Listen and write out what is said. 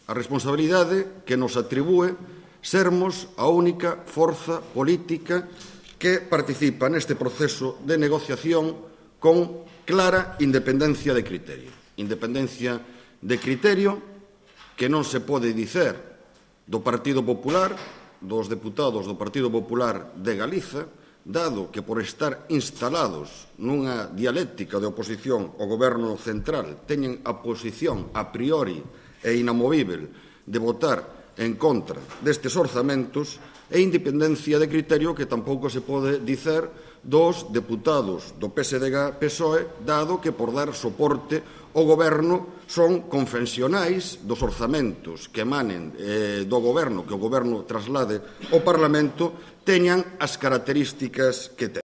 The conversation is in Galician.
a responsabilidade que nos atribúe sermos a única forza política que participa neste proceso de negociación con clara independencia de criterio. Independencia de criterio que non se pode dicer do Partido Popular, dos deputados do Partido Popular de Galiza, dado que por estar instalados nunha dialéctica de oposición ao Goberno central teñen a posición a priori e inamovível de votar en contra destes orzamentos, e independencia de criterio que tampouco se pode dicer dos deputados do PSDG-PSOE, dado que por dar soporte ao Goberno son confesionais dos orzamentos que emanen do Goberno, que o Goberno traslade ao Parlamento, teñan as características que ten.